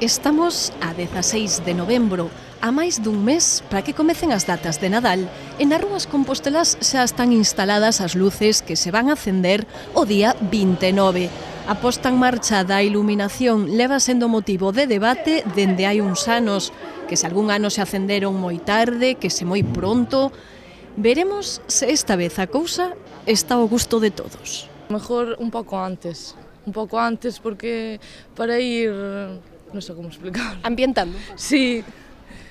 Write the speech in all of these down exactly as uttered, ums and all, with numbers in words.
Estamos a dezaseis de novembro, a máis dun mes para que comecen as datas de Nadal e nas rúas compostelas xa están instaladas as luces que se van a acender o día vinte e nove. A posta en marcha da iluminación leva sendo motivo de debate dende hai uns anos, que se algún ano se acenderon moi tarde, que se moi pronto. Veremos se esta vez a cousa está ao gusto de todos. Mejor un pouco antes, un pouco antes porque para ir, non sei como explicar. Ambientando? Sí,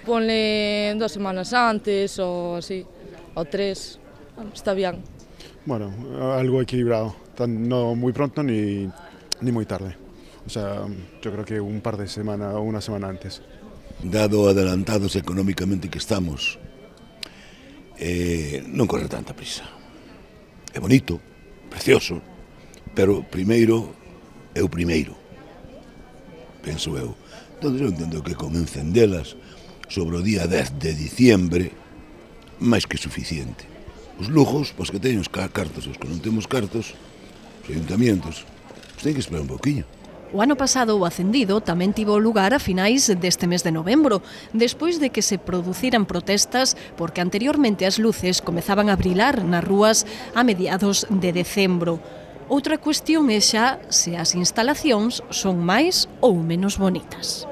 ponle dos semanas antes ou así, ou tres, está bien. Bueno, algo equilibrado, no muy pronto ni, ni muy tarde. O sea, yo creo que un par de semanas o una semana antes. Dado adelantados económicamente que estamos, eh, non corre tanta prisa. É bonito, precioso, pero primeiro é o primeiro, penso eu. Entón eu entendo que con encendelas sobre o día dez de diciembre, máis que suficiente. Os lujos, pois que teñen os cartos, os que non temos cartos, os ayuntamientos, pois teñen que esperar un pouquiño. O ano pasado o acendido tamén tivo lugar a finais deste mes de novembro, despois de que se produciran protestas porque anteriormente as luces comezaban a brilar nas rúas a mediados de decembro. Outra cuestión é xa se as instalacións son máis ou menos bonitas.